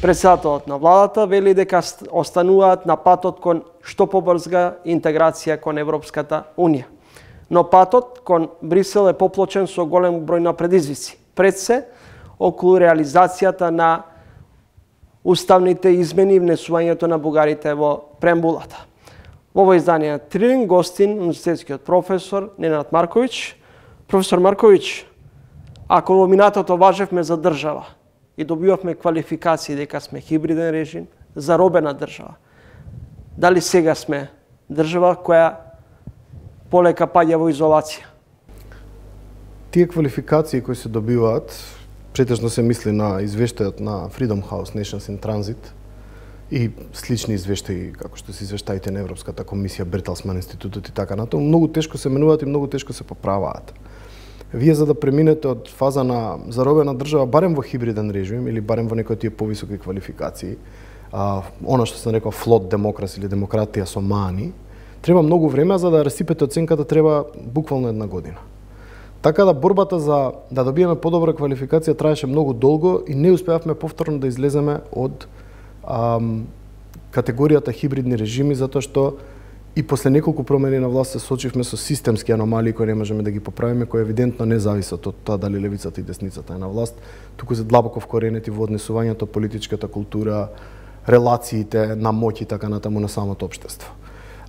Председателот на владата вели дека остануваат на патот кон што побрза интеграција кон Европската Унија. Но патот кон Брисел е поплочен со голем број на предизвици. Пред се, околу реализацијата на уставните измени и внесувањето на бугарите во преамбулата. Во ово издание на Трилин гостин универзитетскиот професор Ненад Марковиќ. Професор Марковиќ, ако во минатото важевме за држава и добивавме квалификации дека сме хибриден режим, заробена држава, дали сега сме држава која полека паѓа во изолација? Тие квалификации кои се добиваат, претежно се мисли на извештајот на Freedom House Nations in Transit и слични извештаи, како што се извештаите на Европската комисија, Бертелсман институтот и така натаму, многу тешко се менуваат и многу тешко се поправаат. Вие за да преминете од фаза на заробена држава, барем во хибриден режим или барем во некои тие повисоки квалификации, она што се нарекува флот демокрас или демократија со мани, треба многу време, за да расипете оценката треба буквално една година. Така да борбата за да добиеме подобра квалификација траеше многу долго и не успеавме повторно да излеземе од категоријата хибридни режими, затоа што и после неколку промени на власт се соочивме со системски аномалии кои не можеме да ги поправиме, кои евидентно не зависат од тоа дали левицата и десницата е на власт, туку се длабоко вкоренети во однесувањето, политичката култура, релациите на моќ и така натаму на самото општество.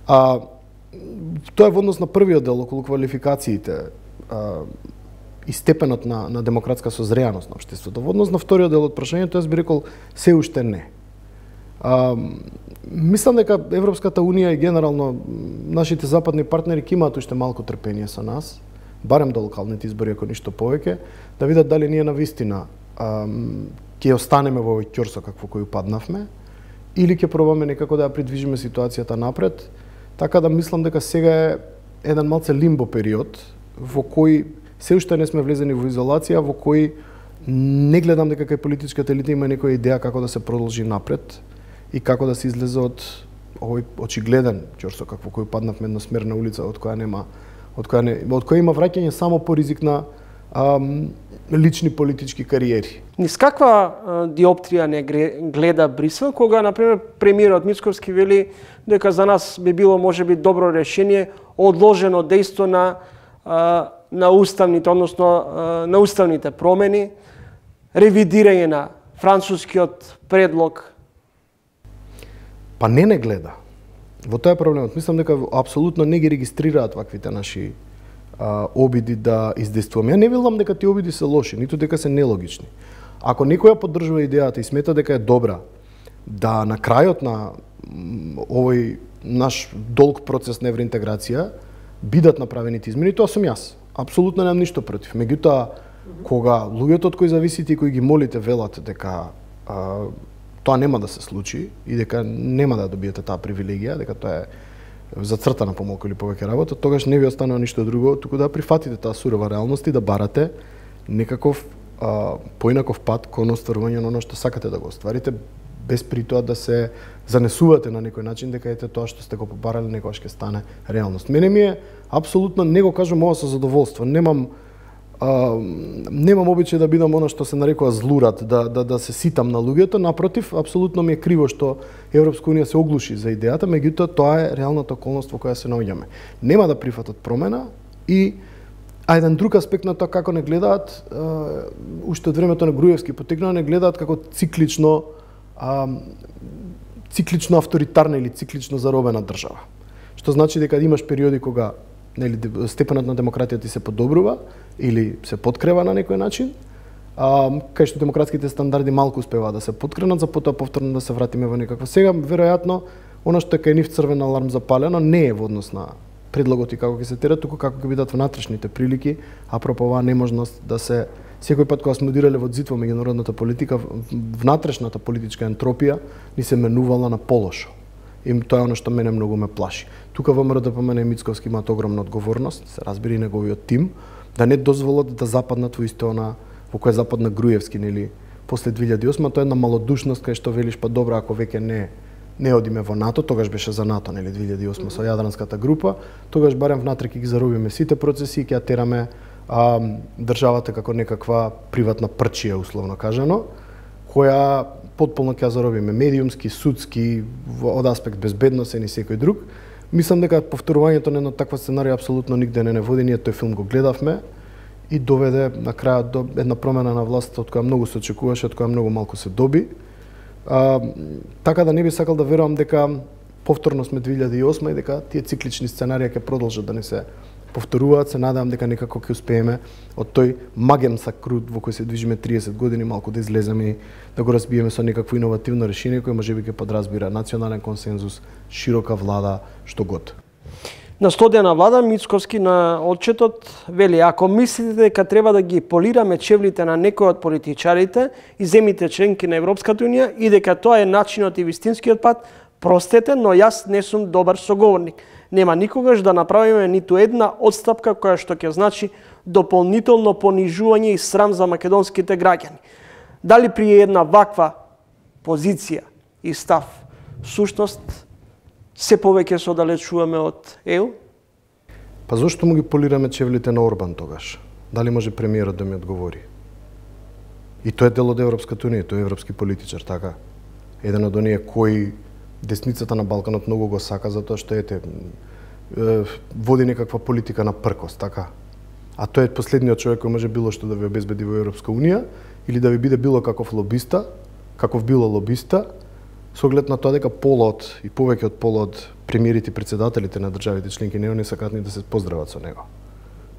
Тоа е во однос на првиот дел околу квалификациите и степенот на демократска созреаност на општеството. Во однос на вториот дел од прашањето, јас би рекол се уште не. Мислам дека Европската Унија и генерално нашите западни партнери ќе имаат уште малку трпение со нас, барем до локалните избори, ако ништо повеќе, да видат дали ние навистина ќе останеме во овој ќорсо какво кој упаднавме, или ќе пробаме некако да ја придвижиме ситуацијата напред. Така да мислам дека сега е еден малце лимбо период во кој се уште не сме влезени во изолација, во кој не гледам дека кај политичката елита има некоја идеја како да се продолжи напред и како да се излезе од овој очигледен ќорсо какво кој паднавме едносмерна улица од која има враќање само по ризик на лични политички кариери. Низ каква диоптрија не гледа Брисел, кога, например, премиерот Мицковски вели дека за нас би било можеби добро решение одложено дејство на уставните, односно на уставните промени, ревидирање на францускиот предлог? Па не гледа. Во тоа е проблемот. Мислам дека апсолутно не ги регистрираат ваквите наши обиди да издействуваме. Ја не велам дека тие обиди се лоши, ниту дека се нелогични. Ако некој ја поддржува идејата и смета дека е добра, да на крајот на овој наш долг процес на евроинтеграција бидат направените измени, тоа сум јас. Апсолутно немам ништо против. Меѓутоа, кога луѓето од кои зависите и кои ги молите велат дека тоа нема да се случи и дека нема да добиете таа привилегија, дека тоа е зацртана помалку или повеќе работа, тогаш не ви останува ништо друго, туку да прифатите таа сурова реалност и да барате некаков поинаков пат кон остварување на оно што сакате да го остварите, без при тоа да се занесувате на некој начин дека ете тоа што сте го побарали некогаш ќе стане реалност. Мене ми е апсолутно, не го кажам ова со задоволство, немам обичај да бидам она што се нарекува злурад, да се ситам на луѓето, напротив, апсолутно ми е криво што Европска Унија се оглуши за идејата, меѓутоа тоа е реалната околност во која се наоѓаме. Нема да прифатат промена и еден друг аспект на тоа како не гледаат, уште од времето на Груевски потекнува, не гледаат како циклично авторитарна или циклично заробена држава. Што значи дека имаш периоди кога степенот на демократија ти се подобрува или се подкрива на некој начин, кај што демократските стандарди малку успеваат да се подкренат, за потоа повторно да се вратиме во некаква. Сега, веројатно, она што е кај нив црвен аларм запалено, не е во однос на предлогот и како ќе се тера, туку како ќе бидат внатрешните прилики, апропо оваа неможност да се секој пат кога сме удирале во зид во меѓународната политика, внатрешната политичка ентропија ни се менувала на полошо. И тоа е оно што мене многу ме плаши. Тука ВМРО ДПМН и Мицковски имаат огромна одговорност, се разбира и неговиот тим, да не дозволат да западнат во исто она во кој западна Груевски, нели, после 2008, тоа е една малодушност кај што велиш па добро ако веќе не одиме во НАТО, тогаш беше за НАТО, нели, 2008 со Јадранската група, тогаш барем внатре ќе ги заробиме сите процеси и ќе ја тераме државата како некаква приватна прчија, условно кажано, која потполно ќе заробиме медиумски, судски, од аспект безбедносен и секој друг. Мислам дека повторувањето на една таква сценарија апсолутно нигде не води. Ние тој филм го гледавме и доведе на крајот до една промена на власта од која многу се очекуваше, од која многу малку се доби. Така да не би сакал да верувам дека повторно сме 2008 и дека тие циклични сценарии ќе продолжат да не се повторуваат. Се надевам дека некако ќе успееме од тој маген сакрут во кој се движиме 30 години малку да излеземе и да го разбиеме со некакво иновативно решение кој можеби ќе подразбира национален консензус, широка влада, што год. На стодена влада Мицковски на отчетот вели: ако мислите дека треба да ги полираме чевлите на некој од политичарите и земите членки на Европската унија и дека тоа е начинот и вистинскиот пат, простете, но јас не сум добар соговорник. Нема никогаш да направиме ниту една одстапка која што ќе значи дополнително понижување и срам за македонските граѓани. Дали при една ваква позиција и став сушност се повеќе се оддалечуваме од ЕУ? Па зошто му ги полираме чевлите на Орбан тогаш? Дали може премиерот да ми одговори? И тој е дел од Европската унија, тој е европски политичар, така? Еден од оние кои десницата на Балканот многу го сака затоа што води некаква политика на пркост, така? А тој е последниот човек кој може било што да ви обезбеди во Европска унија или да ви биде било каков лобиста, каков било лобиста, со оглед на тоа дека полот и повеќе од полот премиерите и председателите на државите членки не сакаат ни да се поздрават со него.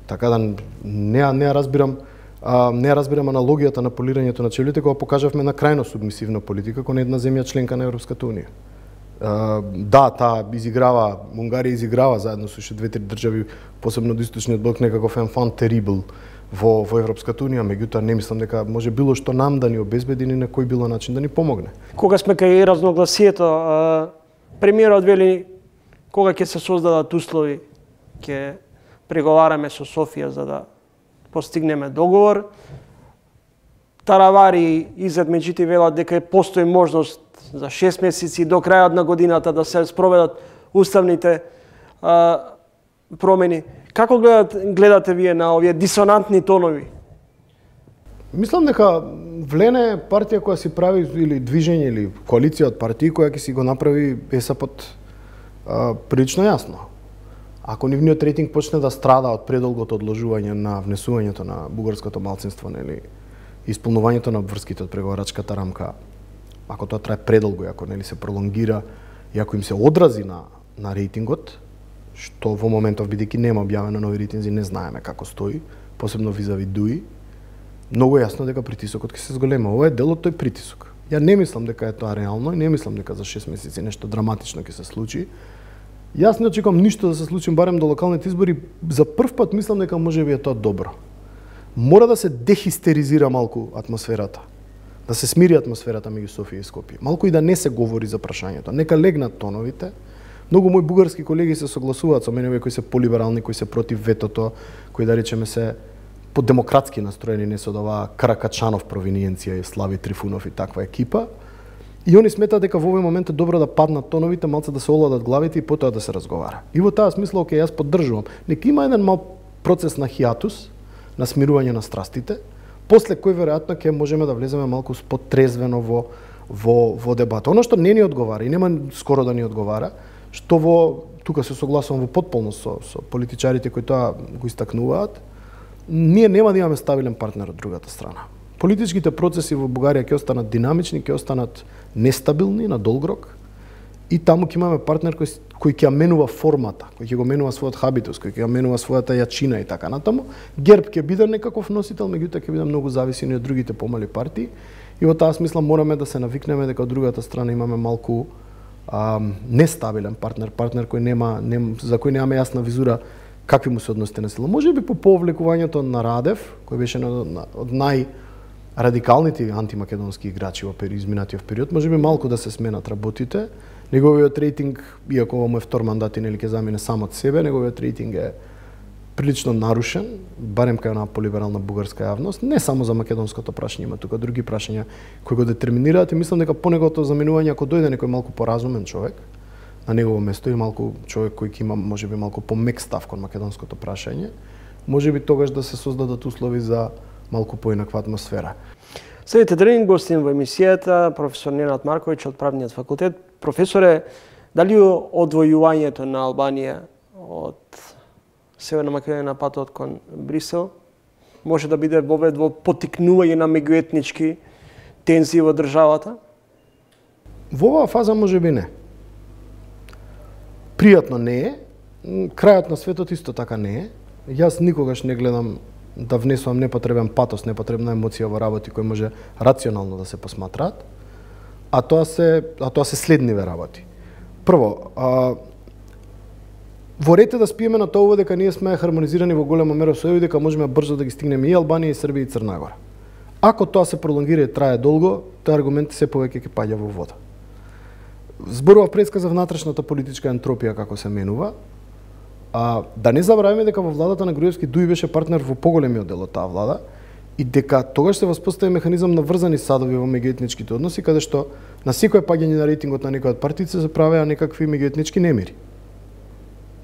Така да не разбирам аналогијата на полирањето на чевлите кога покажавме на крајно субмисивна политика кон една земја членка на Европската унија. Да, таа изиграва, Унгарија изиграва заедно со уште 2-3 држави, посебно од источниот блок, некаков enfant terrible во Европската унија, меѓутоа не мислам дека може било што нам да ни обезбеди ни на кој било начин да ни помогне. Кога сме кај разногласието, премиерот вели кога ќе се создадат услови, ќе преговараме со Софија за да постигнеме договор. Таравари изед меѓите велат дека постои можност за 6 месеци до крајот на годината да се спроведат уставните промени. Како гледате вие на овие дисонантни тонови? Мислам дека Влене партија која си прави или движење или коалиција од партии која ќе си го направи ЕСАПот прилично јасно. Ако нивниот рейтинг почне да страда од предолгото одложување на внесувањето на бугарското малцинство, нели, исполнувањето на обврските од преговарачката рамка, ако тоа трае предолго, ако нели се пролонгира и ако им се одрази на рейтингот, што во моментов бидејќи нема објавено нови рейтинзи, не знаеме како стои, посебно визави ДУИ, многу јасно дека притисокот ќе се зголема. Ова е дел од тој притисок. Ја не мислам дека е тоа реално и не мислам дека за 6 месеци нешто драматично ќе се случи. Јас не очекувам ништо да се случи барем до локалните избори. За прв пат мислам дека можеби е тоа добро. Мора да се дехистеризира малку атмосферата. Да се смири атмосферата меѓу Софија и Скопје. Малку и да не се говори за прашањето. Нека легнат тоновите. Многу мои бугарски колеги се согласуваат со мене, овие кои се полиберални, кои се против ветото, кои да речеме се подемократски настроени, не со оваа Каракачанов провиниенција и Слави Трифунов и таква екипа. И они сметаат дека во овој момент е добро да паднат тоновите, малце да се оладат главите и потоа да се разговара. И во таа смисла, окей, јас поддржувам. Нека има еден мал процес на хиатус, на смирување на страстите, после кој веројатно ќе можеме да влеземе малку потрезвено во дебата. Оно што не ни одговара и нема скоро да ни одговара, што тука се согласувам во потполност со политичарите кои тоа го истакнуваат, ние нема да имаме стабилен партнер од другата страна. Политичките процеси во Бугарија ќе останат динамични, ќе останат нестабилни на долг рок и таму ќе имаме партнер кој ќе ја менува формата, кој ќе го менува својот хабитус, кој ќе ја менува својата јачина и така натаму. ГЕРБ ќе биде некаков носител, меѓутоа ќе биде многу зависени од другите помали партии и во таа смисла мораме да се навикнеме дека од другата страна имаме малку нестабилен партнер за кој немаме јасна визура какви му се односите на сила. Може би по повлекувањето на Радев, кој беше од најрадикалните антимакедонски играчи во изминатиот период, може би малку да се сменат работите. Неговиот рейтинг, иако ова му е втор мандат и нели ќе замине сам од себе, неговиот рейтинг е прилично нарушен, барем кај една полиберална бугарска јавност, не само за македонското прашање, има тука други прашања кои го детерминираат и мислам дека по неговото заминување, ако дојде некој малку поразумен човек на негово место и малку човек кој ќе има можеби малку помек став кон македонското прашање, можеби тогаш да се создадат услови за малку поинаква атмосфера. Следите ден гостин во емисијата професор Ненад Марковиќ од Правниот факултет. Професоре, дали одвојувањето на Албанија од Северна Македонија на патот кон Брисел може да биде вовед во поттикнување на меѓуетнички тензии во државата? Во оваа фаза може би не. Пријатно не е, крајот на светот исто така не е. Јас никогаш не гледам да внесувам непотребен патос, непотребна емоција во работи кои може рационално да се посматраат, а тоа се следниве работи. Прво, во ред е да спиеме на тоа дека ние сме хармонизирани во голема мера со ЕУ, дека можеме брзо да ги стигнеме и Албанија, и Србија, и Црна Гора. Ако тоа се пролонгира и трае долго, тој аргумент се повеќе ќе паѓа во вода. Зборува предска за внатрешната политичка ентропија како се менува. Да не забравиме дека во владата на Груевски Дуј беше партнер во поголемиот дел од таа влада и дека тогаш се воспостави механизам на врзани садови во меѓуетничките односи, каде што на секој паѓање на рейтингот на некоја од партиите се правеа некакви меѓуетнички немири.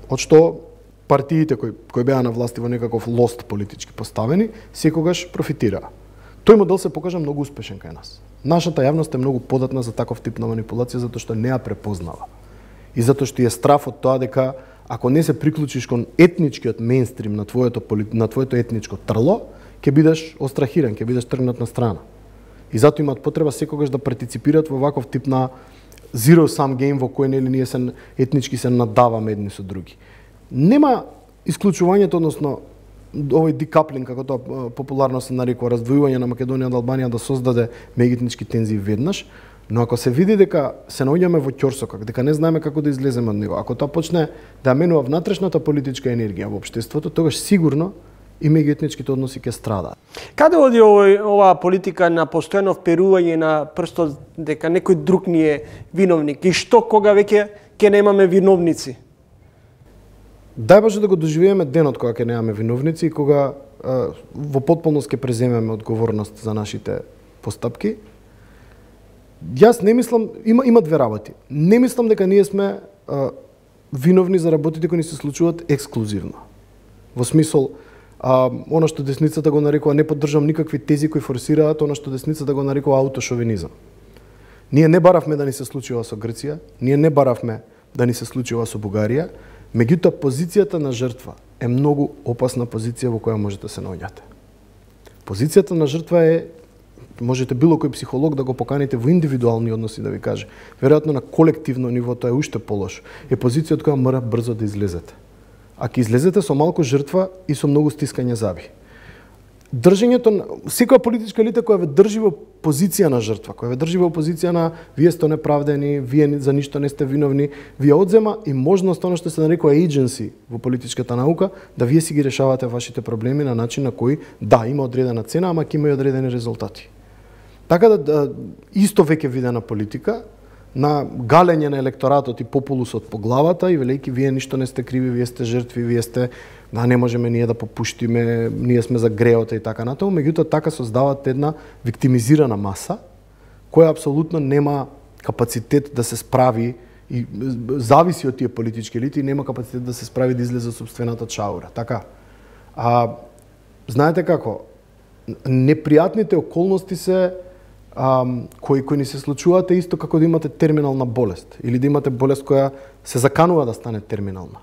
Од што партиите кои беа на власти во некаков лост политички поставени, секогаш профитираа. Тој модел се покажа многу успешен кај нас. Нашата јавност е многу податна за таков тип на манипулација затоа што не ја препознава. И затоа што е страф од тоа дека ако не се приклучиш кон етничкиот мејнстрим на твоето етничко трло, ќе бидеш острахиран, ќе бидеш тргнат на страна. И затоа имаат потреба секогаш да партиципираат во ваков тип на zero sum game во кој нели ние се етнички се надаваме едни со други. Нема исклучувањето, односно овој декаплинг, како тоа популарно се нарекува, раздвојување на Македонија од Албанија да создаде меѓуетнички тензии веднаш, но ако се види дека се наоѓаме во ќорсокак, дека не знаеме како да излеземе од него, ако тоа почне да менува внатрешната политичка енергија во општеството, тогаш сигурно и меѓуетничките односи ќе страдаат. Каде оди оваа политика на постојано вперување на прстот дека некој друг ни е виновник и што кога веќе ќе немаме виновници? Дај Боже да го доживееме денот кога ќе немаме виновници и кога во потполност ќе преземеме одговорност за нашите постапки. Јас не мислам, има две работи. Не мислам дека ние сме виновни за работите кои ни се случуваат ексклузивно. Во смисол, она што десницата го нарекува, не поддржам никакви тези кои форсираат, она што десницата го нарекува аутошовинизам. Ние не баравме да ни се случи ова со Грција, ние не баравме да ни се случи ова со Бугарија, меѓутоа позицијата на жртва е многу опасна позиција во која можете да се наоѓате. Позицијата на жртва е, можете било кој психолог да го поканите во индивидуални односи да ви каже, веројатно на колективно ниво тоа е уште полош, е позиција од која мора брзо да излезете. А ќе излезете со малку жртва и со многу стискање заби. Држењето на секоја политичка елита која ве држи во позиција на жртва, која ве држи во позиција на вие сте неправдени, вие за ништо не сте виновни, вие одзема и можност она што се нарекува agency во политичката наука, да вие си ги решавате вашите проблеми на начин на кој да има одредена цена, ама ќе има и одредени резултати. Така да исто веќе видена политика на галење на електоратот и популусот по главата и велејќи вие ништо не сте криви, вие сте жртви, вие сте не можеме ние да попуштиме, ние сме за греота и така натаму, меѓутоа така создават една виктимизирана маса која апсолутно нема капацитет да се справи и зависи од тие политички елити и нема капацитет да се справи да излезе собствената чаура. Така. Знаете како? Непријатните околности се кои ни се случуваат е исто како да имате терминална болест или да имате болест која се заканува да стане терминална.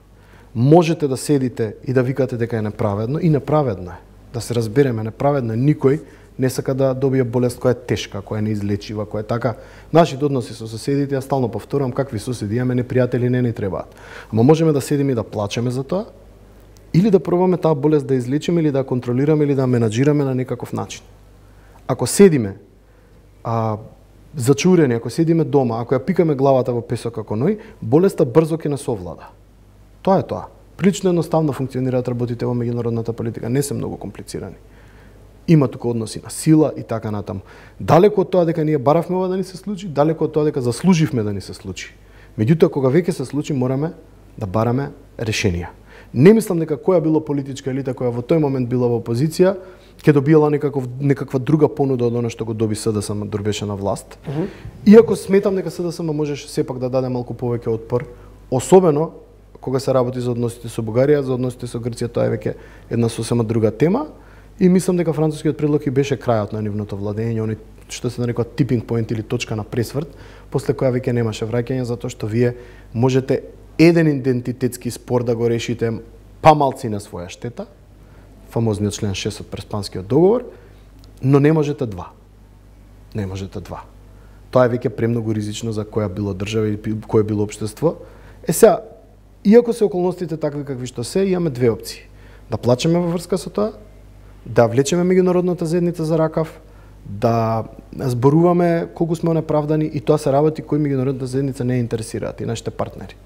Можете да седите и да викате дека е неправедно и неправедно е. Да се разбереме, неправедно е. Никој не сака да добие болест која е тешка, која е неизлечива, која е така. Нашите односи со соседите, ја стално повторувам, какви соседи имаме, непријатели не ни требаат. Ама можеме да седиме и да плачеме за тоа, или да пробаме таа болест да излечиме, или да ја контролираме, или да ја менаџираме на некаков начин. Ако седиме зачурени, ако седиме дома, ако ја пикаме главата во песок како ној, болеста брзо ќе не совлада. Тоа е тоа. Прилично едноставно функционираат работите во меѓународната политика, не се многу комплицирани. Има тука односи на сила и така натаму. Далеко од тоа дека ние баравме ова да ни се случи, далеко од тоа дека заслуживме да ни се случи. Меѓутоа, кога веќе се случи, мораме да бараме решенија. Не мислам дека која било политичка елита која во тој момент била во опозиција, ќе добиела некаква друга понуда од она што го доби СДСМ дok беше на власт. Иако сметам дека СДСМ можеше сепак да даде малку повеќе отпор, особено кога се работи за односите со Бугарија, за односите со Грција, тоа е веќе една сосема друга тема. И мислам дека францускиот предлог и беше крајот на нивното владење, они што се нарекува tipping point или точка на пресврт, после која веќе немаше враќање, затоа што вие можете еден идентитетски спор да го решите малци на своја штета, фамозниот член 6 од Преспанскиот договор, но не можете два. Не можете два. Тоа е веќе премногу ризично за која било држава и кое било општество. Сега, иако се околностите такви какви што се, имаме две опции. Да плачеме во врска со тоа, да влечеме меѓународната заедница за ракав, да зборуваме колку сме неправдани, и тоа се работи кои меѓународната заедница не интересираат и нашите партнери.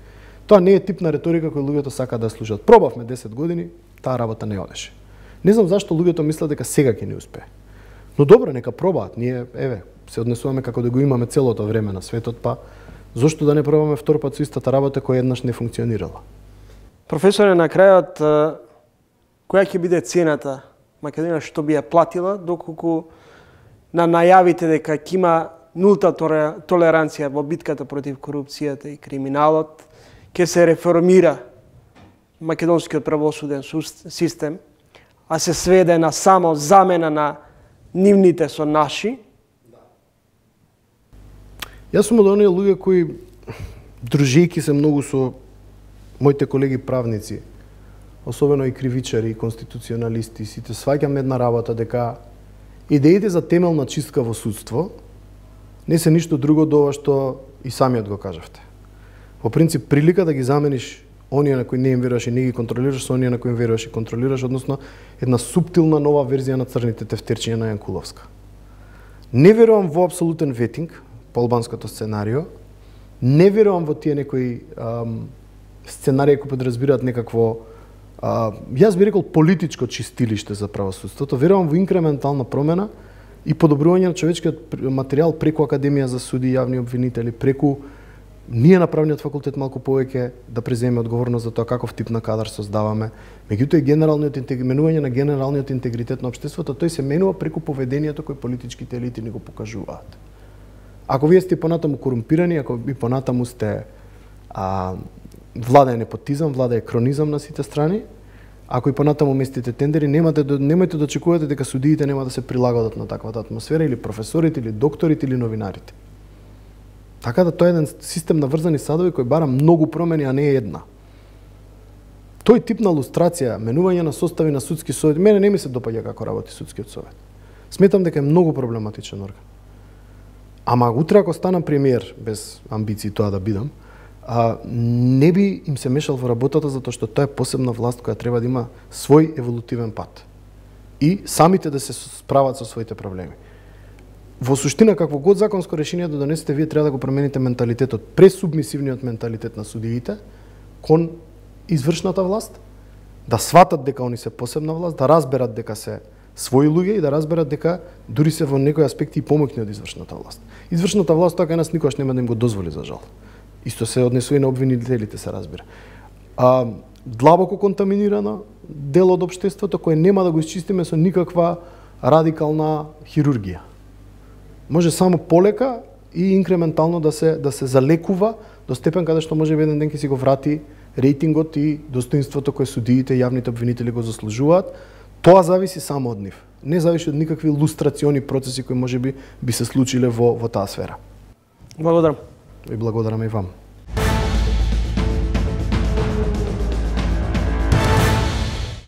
Тоа не е тип на реторика кој луѓето сакаат да слушаат. Пробавме 10 години, таа работа не одеше. Не знам зашто луѓето мислат дека сега ќе не успее. Но добро, нека пробаат. Ние, се однесуваме како да го имаме целото време на светот, па зошто да не пробаме втор пат со истата работа која еднаш не функционирала? Професоре, на крајот, која ќе биде цената Македонија што би ја платила доколку на најавите дека ќе има нулта толеранција во битката против корупцијата и криминалот, ќе се реформира македонскиот правосуден систем, а се сведе на само замена на нивните со наши? Јас сум од оние луѓе кои, дружејќи се многу со моите колеги правници, особено и кривичари, и конституционалисти, сите сваќаме една работа дека идеите за темелна чистка во судство не се ништо друго до ова што и самиот го кажавте. Во принцип, прилика да ги замениш оние на кои не им веруваш и не ги контролираш со оние на кои им веруваш и контролираш, односно една суптилна нова верзија на црните тефтерчиња на Јанкуловска. Не верувам во апсолутен ветинг по албанското сценарио, не верувам во тие некои сценарии кои подразбираат некакво, јас би рекол, политичко чистилиште за правосудството. Верувам во инкрементална промена и подобрување на човечкиот материјал преку Академија за суди и јавни обвинители, преку ние на правниот факултет малку повеќе да преземе одговорност за тоа каков тип на кадар создаваме. Меѓутоа и менување на генералниот интегритет на општеството, тој се менува преку поведението кој политичките елити ни го покажуваат. Ако вие сте понатаму корумпирани, ако и понатаму сте влада е непотизам, влада е кронизам на сите страни, ако и понатаму местите тендери, немајте да очекувате дека судиите нема да се прилагодат на таквата атмосфера, или професорите, или докторите, или новинарите. Така да тоа е еден систем на врзани садови кој бара многу промени, а не е една. Тој тип на лустрација, менување на состави на судски совет, мене не ми се допаѓа како работи судскиот совет. Сметам дека е многу проблематичен орган. Ама утре ако станам премиер, без амбиции тоа да бидам, не би им се мешал во работата, затоа што тоа е посебна власт која треба да има свој еволутивен пат. И самите да се справат со своите проблеми. Во суштина, какво год законско решение да донесете, вие треба да го промените менталитетот, пресубмисивниот менталитет на судиите кон извршната власт, да сватат дека они се посебна власт, да разберат дека се своји луѓе и да разберат дека дури се во некои аспекти и помоќни од извршната власт. Извршната власт тоа кај нас никогаш нема да им го дозволи, за жал. Исто се однесува и на обвинителите, се разбира. Длабоко контаминирано дел од општеството кој нема да го исчистиме со никаква радикална хирургија. Може само полека и инкрементално да се залекува до степен каде што може еден ден ќе си го врати рейтингот и достоинството кој судиите и јавните обвинители го заслужуваат. Тоа зависи само од нив. Не зависи од никакви лустрациони процеси кои можеби би се случиле во таа сфера. Благодарам. И благодарам и вам.